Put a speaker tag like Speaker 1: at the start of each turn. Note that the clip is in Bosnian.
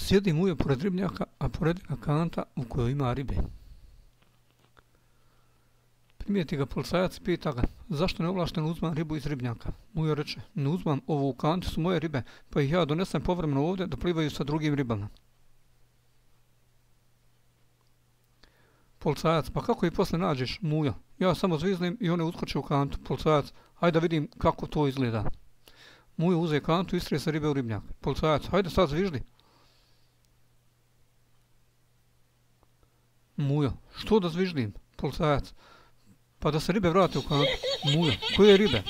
Speaker 1: Sjedi Mujo pored ribnjaka, a pored njega kanta u kojoj ima ribe. Primijeti ga policajac i pita ga, zašto neovlašteno uzmam ribu iz ribnjaka? Mujo reče, ne uzmam, ovo u kanti su moje ribe, pa ih ja donesem povremeno ovdje da plivaju sa drugim ribama. Policajac, pa kako ih posle nađeš, Mujo? Ja samo zviznem i one uskoče u kantu. Policajac, hajde da vidim kako to izgleda. Mujo uze kantu i istrije sa ribe u ribnjak. Policajac, hajde sad zviždi. Mujo, što da zviždim? Policajac, pa da se ribe vrate u kantu. Mujo, koje ribe?